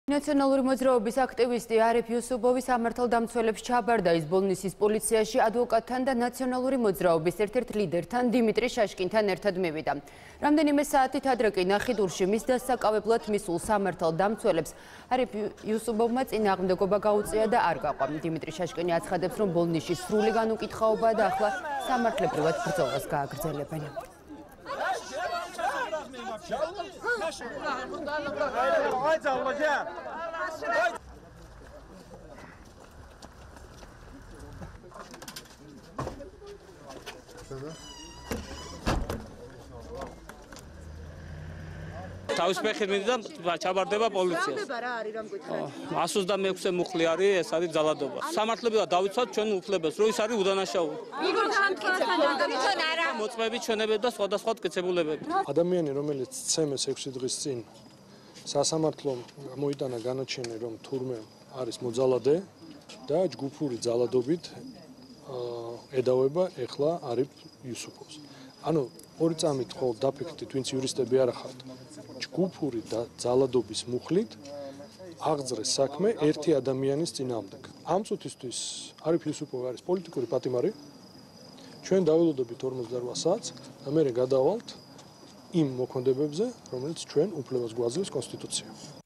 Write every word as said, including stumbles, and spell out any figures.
ნაციონალური მოძრაობის აქტივისტი არიფ იუსუფოვი სამართალდამცველებს ჩაბარდა ის ბოლნისის პოლიციაში ადვოკატთან და ნაციონალური მოძრაობის ერთ-ერთ ლიდერთან დიმიტრი შაშკინთან ერთად მივიდა. რამდენიმე საათით ადრე კი ნახიდურში მის დასაკავებლად მისულ სამართალდამცველებს არიფ იუსუფოვმა წინააღმდეგობა გაუწია და არ გაყვა. დიმიტრი შაშკინი აცხადებს, რომ ბოლნისში სრული განუკითხაობაა და ახლა სამართლებრივად ბრძოლას გააგრძელებენ. თავის ფეხით მიდდა ჩაბარდება პოლიციას. one hundred sixty-six მუხლი არის, ეს არის ძალადობა. სამართლებრივად დავიცვათ ჩვენ უფლებას, რომ ის არის udanașauli. მიგორ განმტკიცებულა თვითონ არა. მოწმეები, ჩვენებები და სხვადასხვა მტკიცებულებები. ადამიანი, რომელიც ცემეს ექვსი დღის წინ სასამართლომ მოიტანა განაჩენი, რომ თურმე არის მოძალადე და ჯგუფური ძალადობით ედავება ეხლა არიფ იუსუფოვს. ანუ ორი წამით ხოლმე დაფიქრდით, ვინც იურისტები არ ახართ. ჯგუფური ძალადობის მუხლით აღძრეს საქმე ერთი ადამიანის წინააღმდეგ. ამ წუთისთვის არიფ იუსუფოვი არის პოლიტიკური პატიმარი. ჩვენ დაველოდებით ორმოცდაოთხ საათს და მე გადავალთ იმ მოქმედებებზე, რომელიც ჩვენ უფლებას გვაძლევს კონსტიტუცია.